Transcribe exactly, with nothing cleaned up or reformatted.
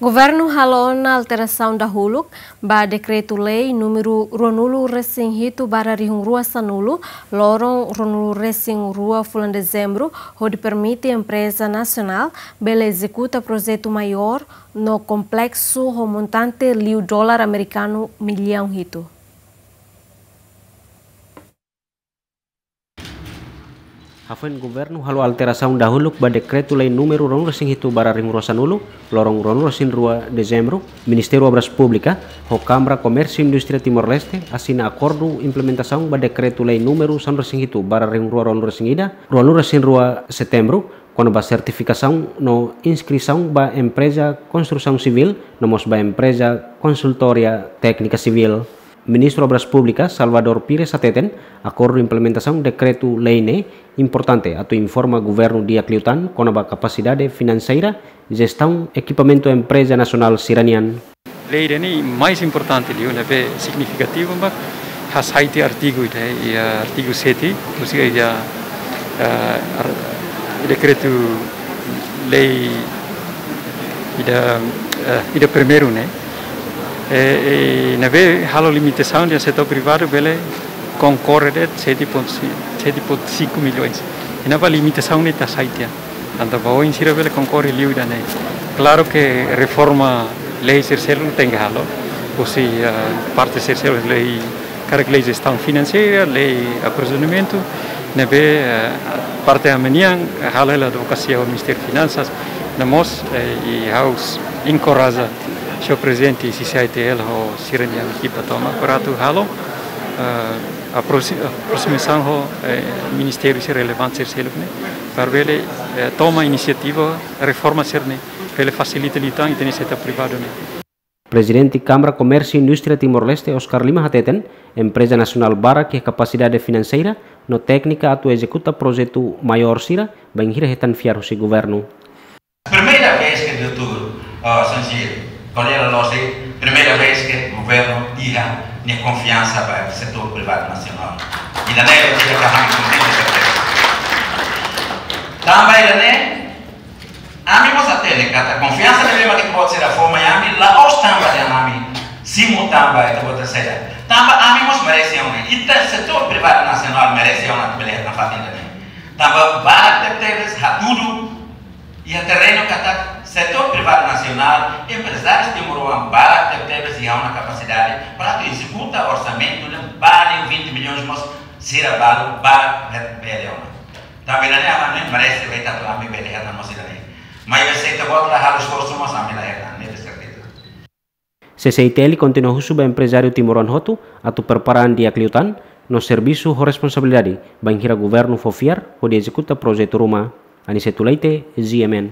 Governu halo ona alterasaun dahuluk ba Dekretu-Lei númeru ruanulu-resin-hitu barra rihun rua sanulu, loron ruanulu-resin-rua fulan Dezembru, hodi permite empreza nasionál bele ezekuta projetu maiór no kompleksu ho montante liu dolar amerikanu millaun hitu. Hafoin Governu halo alterasaun dahuluk ba Dekretu-Lei númeru ruanulu-resin-hitu barra rihun rua sanulu, loron ruanulu-resin-rua Dezembru, Ministériu Obras Públikas ho Kámara Komérsiu Indústria Timor-Leste asina akordu implementasaun ba Dekretu-Lei númeru sanulu-resin-hitu barra rihun rua ruanulu-resin-ida, ruanulu-resin-rua Setembru, kona-ba sertifikasaun no inskrisaun ba empreza konstrusaun sivíl, no mós ba empreza konsultoria téknika sivíl. Ministru Obras Públikas, Salvador Pires hateten, akordu implementasaun Dekretu-Lei ne'e importante atu informa Governu di'ak liután kona-ba kapasidade finanseira jestaun ekipamentu empreza nasionál sira-nian. Lei ida-ne'e mais importante liu, ne'ebé signifikativu, mak hasai tiha artigu ida, iha artigu sete, husi iha, eh, ar-, Dekretu-Lei ida, eh, ida primeiru ne'e. E, e, ne'ebé halo limitasaun dehan setór privadu bele konkorre de'it sete ponto cinco, sete ponto cinco milhões. I ne'ebá limitasaun ne'e ita hasai tiha. Entaun ba oin sira bele konkorre liu ida-ne'e. Klaru ke reforma lei sira seluk tenke halo. Husi, eh, parte sira seluk, lei, karik lei jestaun finanseira, lei aprovizionamentu, ne'ebé, eh, parte ami-nian halo hela advokasia ho Ministériu Finansas, no mós, eh, i ha'u enkoraja señór Prezidente C C I T L ho sira-nia ekipa tomak para atu halo, eh, aproxi-, aproximasaun ho, eh, ministériu sira relevante sira seluk ne'e, para bele, eh, toma inisiativa reforma sira-ne'e, bele fasilita liután ita-nia setór privadu ne'e. Prezidente Kámara Komérsiu Indústria Timor-Leste, Oscar Lima hateten, empreza nasionál barak iha kapasidade finanseira no téknika atu ezekuta projetu maiór sira, bainhira hetan fiar husi Governu. Primeira vez ke doutór, ah, Sanjir, kolega Lose, primeira vez ke Governu iha nia konfiansa ba setór privadu nasionál. Ida-ne'e ita ka hang konfiansa. Tanba ida-ne'e, ami mós hatene katak konfiansa ne'ebé mak ita-boot sira fó mai ami, la'ós tanba dehan ami simu tanba ita-boot sira. Tanba ami mós merese ona. Ita setór privadu nasionál merese ona atu bele hetan fatin ida-ne'e. Tanba barak tebetebes hatudu iha terrenu katak setór privadu nasionál, emprezáriu timoroan barak tebetebes iha ona kapasidade para atu ezekuta orsamentu ne'e ba liu vinte milhões mós sira balu barak bele ona. Tanba ida-ne'e ami merese, bele atu ami bele hetan mós ida-ne'e. Maibé se ita-boot la halo esforsu mós ami la hetan, ne'e de serteza. C C I T L kontinua husu ba emprezáriu timoroan hotu atu prepara an di'ak liután no servisu ho responsabilidade, bainhira Governu fó fiar hodi ezekuta projetu ruma. Aniceto Leite, G M N.